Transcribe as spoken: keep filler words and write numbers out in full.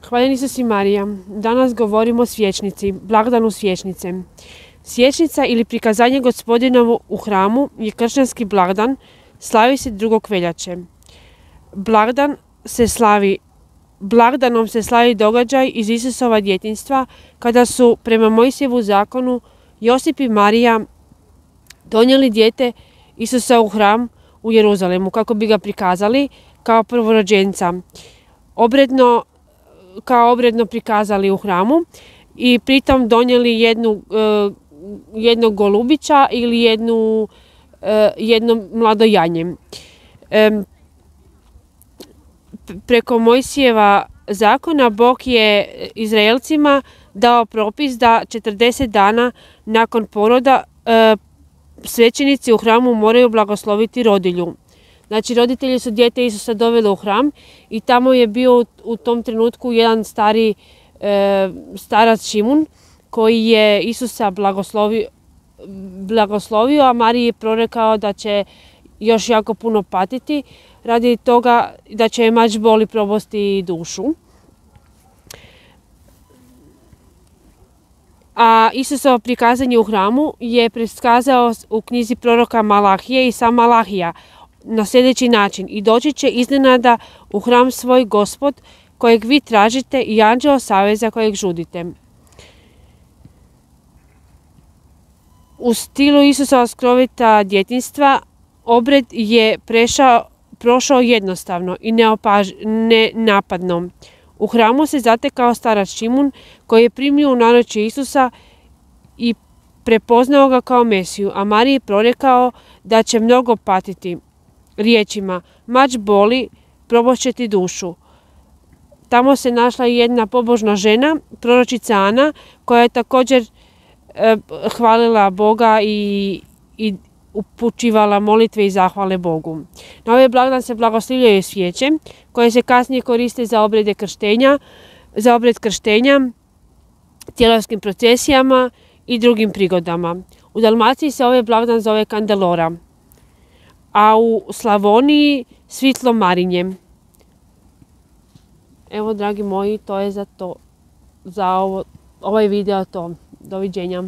Hvaljen Isus i Marija. Danas govorimo o svječnici, blagdanu svječnice. Svječnica ili prikazanje Gospodinovo u hramu je kršćanski blagdan, slavi se drugog veljače. Blagdan se slavi, blagdanom se slavi događaj iz Isusova djetinjstva kada su prema Mojsijevu zakonu Josip i Marija donijeli dijete Isusa u hram u Jeruzalemu kako bi ga prikazali kao prvorođenca. Obredno kao obredno prikazali u hramu i pritom donijeli jednu, e, jednog golubića ili jednu, e, jedno mlado janje. E, preko Mojsijeva zakona Bog je Izraelcima dao propis da četrdeset dana nakon poroda e, svećenici u hramu moraju blagosloviti rodilju. Znači, roditelji su dijete Isusa doveli u hram i tamo je bio u tom trenutku jedan stari e, starac Šimun koji je Isusa blagoslovio, blagoslovio, a Mariji je prorekao da će još jako puno patiti radi toga da će je mač boli probosti dušu. A Isusovo prikazanje u hramu je prikazao u knjizi proroka Malahije i sam Malahija na sljedeći način: i doći će iznenada u hram svoj Gospod kojeg vi tražite i anđeo saveza kojeg žudite. U stilu Isusova skrovita djetinjstva obred je prešao, prošao jednostavno i neopaž, nenapadno. U hramu se zatekao starac Šimun koji je primio u naručje Isusa i prepoznao ga kao Mesiju, a Mariji je prorekao da će mnogo patiti riječima: mač boli, probošće ti dušu. Tamo se našla i jedna pobožna žena, proročica Ana, koja je također e, hvalila Boga i, i upućivala molitve i zahvale Bogu. Na ovaj blagdan se blagoslivljaju svijeće koje se kasnije koriste za obrede krštenja, za obred krštenja, tjelovskim procesijama i drugim prigodama. U Dalmaciji se ovaj blagdan zove Kandelora, a u Slavoniji svitlo Marinje. Evo, dragi moji, to je za to, za ovo, ovaj video to. Doviđenja.